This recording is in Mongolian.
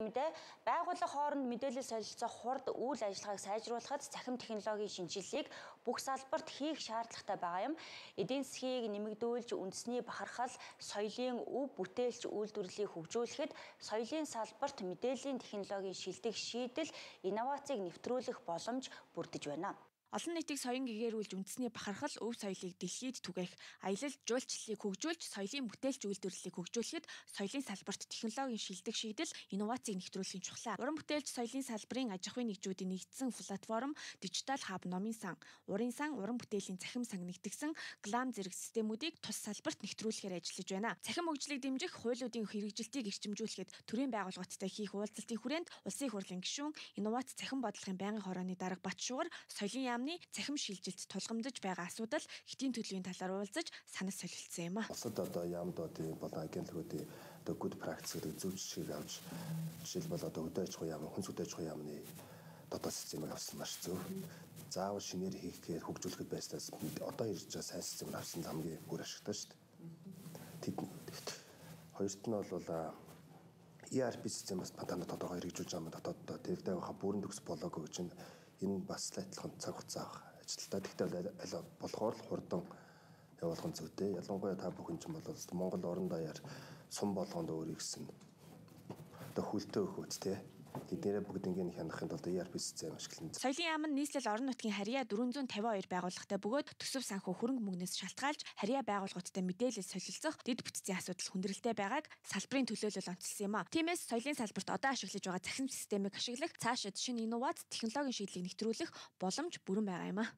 Мэдээ байгууллага хооронд мэдээлэл солилцох хурд үйл ажиллагааг сайжруулахад цахим технологийн шинжилгээг бүх салбарт хийх шаардлагатай байгаа юм. Эдийн засгийг нэмэгдүүлж, үндэсний бахархал, соёлын өв бүтээлч үйлдвэрлэлийг хөгжүүлэхэд соёлын салбарт мэдээллийн технологийн шилдэг шийдэл, инновацийг нэвтрүүлэх боломж бүрдэж байна. Олон нийтийг соён гэгээрүүлж үндэсний бахархал, өв соёлыг дэлхийд түгээх, аялал жуулчлалыг хөгжүүлж, соёлын бүтээлч үйлдвэрлэлийг хөгжүүлэхэд соёлын салбарт технологийн шилдэг шийдэл, инновацийг нэвтрүүлэхийн чухлаа. Уран бүтээлч соёлын салбарын аж ахуйн нэгжүүдийн нэгдсэн платформ, дижитал хаб Номын сан, урын сан, уран бүтээлийн цахим сан нэгтгэсэн глам зэрэг системүүдийг тус салбарт нэвтрүүлэхээр ажиллаж байна. Цахим хөгжлийг дэмжих, хуулиудын хэрэгжилтийг эрчимжүүлэхэд төрийн байгууллагуудтай хийх уулзалтын хүрээнд Улсын их хурлын гишүүн, инновац цахим бодлогын байнгын хорооны дарга Батшуугар соёлын цахим шилжилт тулгамдж байгаа асуудал хэтийн төлөвийн талаар уулзаж санал солилцсон юм а. Улсад одоо яамдуудын болон агентлагуудын одоо good practice гэдэг зөв жишгийг авч жишээлбэл одоо өдөө аж ахуй яам, хүнс өдөө аж ахуй яамны дотоод системийг авсан маш зөв. Заавал шинээр хийхээр хөгжүүлэхэд байснаас одоо ирж байгаа сайн системийг авсан хамгийн бүр ашигтай шүү дээ. Хоёрт нь бол ERP систем бас патентад тодорхой хэрэгжүүлж байгаа юм дотоод тэрдээ хаа бүрэн төгс болоогүй гэж энэ бас адилхан цаг хугацаа ажилтаа. Тэгтэл аль болохоор л хурдан явуулах нь зүйтэй. Ялангуяа та бүхэн ч бол Монгол орон даяар сум болгонд өөрийг гэсэн одоо хүлтээ өгөөд тий. Эднэрээ бүгднийг хянахын тулд ERP систем ашиглана. Соёлын яам нь нийслэл орон нутгийн харьяа 452 байгууллагатай бөгөөд төсөв санхүү хөрөнгө мөнгнөөс шалтгаалж харьяа байгууллагуудтай мэдээлэл солилцох дэд бүтцийн асуудал хүндрэлтэй байгааг салбарын төлөөлөл онцлсан юм а. Тиймээс соёлын салбарт одоо ашиглаж байгаа цахим системийг ашиглах, цаашид шинэ инновац технологийн шийдлийг нэвтрүүлэх боломж бүрэн байгаа юм а.